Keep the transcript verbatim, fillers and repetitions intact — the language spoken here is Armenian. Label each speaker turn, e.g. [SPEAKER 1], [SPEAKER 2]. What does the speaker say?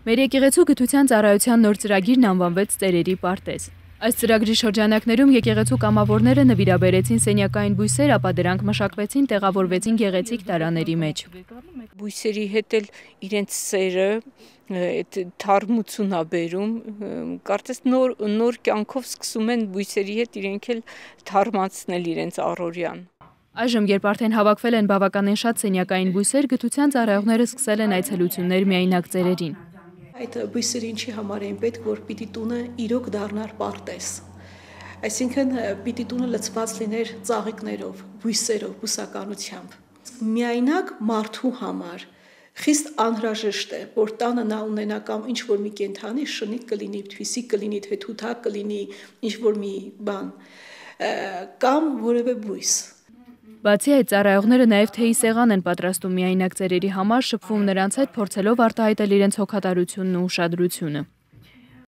[SPEAKER 1] Մեր եկեղեցու գթության ծառայության նոր ծրագիրն անվանվեց ծերերի պարտեզ։ Այս ծրագրի շրջանակներում եկեղեցու կամավորները նվիրաբերեցին սենյակային բույսեր, ապա դրանք մշակվեցին, տեղավորվեցին գեղեցիկ տարաների մեջ։
[SPEAKER 2] Բույսերի հետ էլ իրենց սերը, այդ թարմություն ա բերում, կարծես նոր նոր կյանքով սկսում են բույսերի հետ իրենք էլ թարմացնել իրենց առօրյան։
[SPEAKER 1] Այժմ, երբ արդեն հավաքվել են բավականին շատ սենյակային բույսեր, գթության ծառայողները սկսել են այցելություններ միայնակ ծերերին։
[SPEAKER 3] Այդ բույսերը ինչի համար էին պետք, որ պիտի տունը իրոք դառնար պարտեզ։ Այսինքն պիտի տունը լցված լիներ ծաղիկներով, բույսերով, բուսականությամբ։ Միայնակ մարդու համար խիստ անհրաժեշտ է, որ տանը նա ունենա կամ ինչ որ մի կենդանի, շնիկ կլինի, թվիսիկ կլինի, թեթութակ կլինի, ինչ որ մի բան, կամ որևէ բույս։
[SPEAKER 1] Բացի այդ, ծառայողները նաև թեյի սեղան են պատրաստում միայնակ ծերերի համար, շփվում նրանց հետ, փորձելով արտահայտել իրենց հոգատարությունն ու ուշադրությունը։